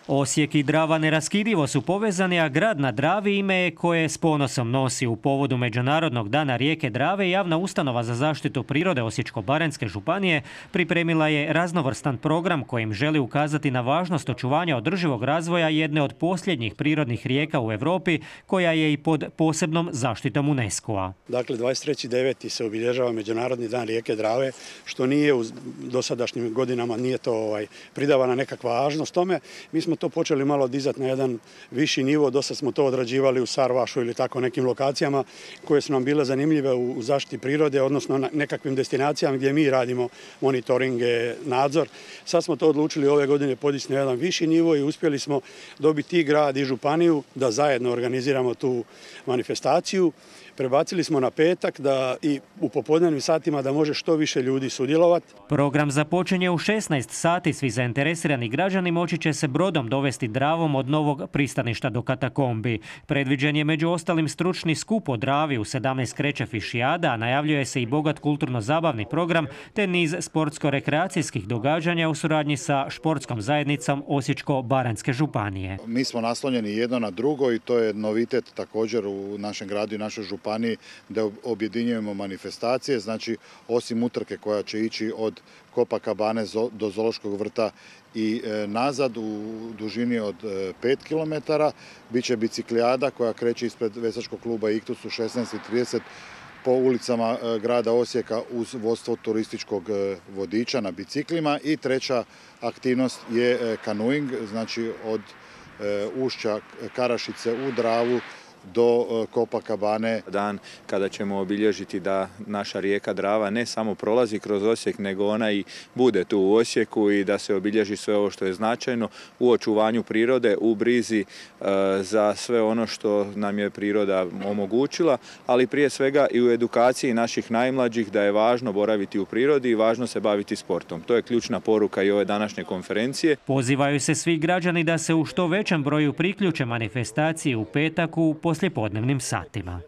Osijek i Drava neraskidivo su povezani, a grad na Dravi ime je koje s ponosom nosi. U povodu Međunarodnog dana rijeke Drave javna ustanova za zaštitu prirode Osječko-baranjske županije pripremila je raznovrstan program kojim želi ukazati na važnost očuvanja održivog razvoja jedne od posljednjih prirodnih rijeka u Europi koja je i pod posebnom zaštitom UNESCO-a. Dakle, 23.9. se obilježava Međunarodni dan rijeke Drave, što nije u dosadašnjim godinama nije to pridavana nekakva važnost tome. Mi smo to počeli malo dizati na jedan viši nivo, dosta smo to odrađivali u Sarvašu ili tako nekim lokacijama koje su nam bile zanimljive u zaštiti prirode, odnosno na nekakvim destinacijama gdje mi radimo monitoringe, nadzor. Sad smo to odlučili ove godine podići na jedan viši nivo i uspjeli smo dobiti i grad i županiju da zajedno organiziramo tu manifestaciju. Prebacili smo na petak da i u popodnevnim satima da može što više ljudi sudjelovati. Program započinje u 16 sati. Svi zainteresirani građani moći će se brodom dovesti Dravom od novog pristaništa do katakombi. Predviđen je među ostalim stručni skup o Dravi, u 17 kreće fišijada, a najavljuje se i bogat kulturno-zabavni program te niz sportsko-rekreacijskih događanja u suradnji sa športskom zajednicom Osječko-baranjske županije. Mi smo naslonjeni jedno na drugo i to je novitet također u našem gradu i našoj županiji da objedinjujemo manifestacije, znači osim utrke koja će ići od Copacabane do Zoološkog vrta i nazad u dužini od 5 km, bit će biciklijada koja kreće ispred veslačkog kluba Iktus u 16:30 po ulicama grada Osijeka uz vodstvo turističkog vodiča na biciklima i treća aktivnost je kanuing, znači od ušća Karašice u Dravu do Copacabane. Dan kada ćemo obilježiti da naša rijeka Drava ne samo prolazi kroz Osijek, nego ona i bude tu u Osijeku i da se obilježi sve ovo što je značajno u očuvanju prirode, u brizi za sve ono što nam je priroda omogućila, ali prije svega i u edukaciji naših najmlađih da je važno boraviti u prirodi i važno se baviti sportom. To je ključna poruka i ove današnje konferencije. Pozivaju se svi građani da se u što većem broju priključe manifestaciji u petak u poslijepodnevnim satima.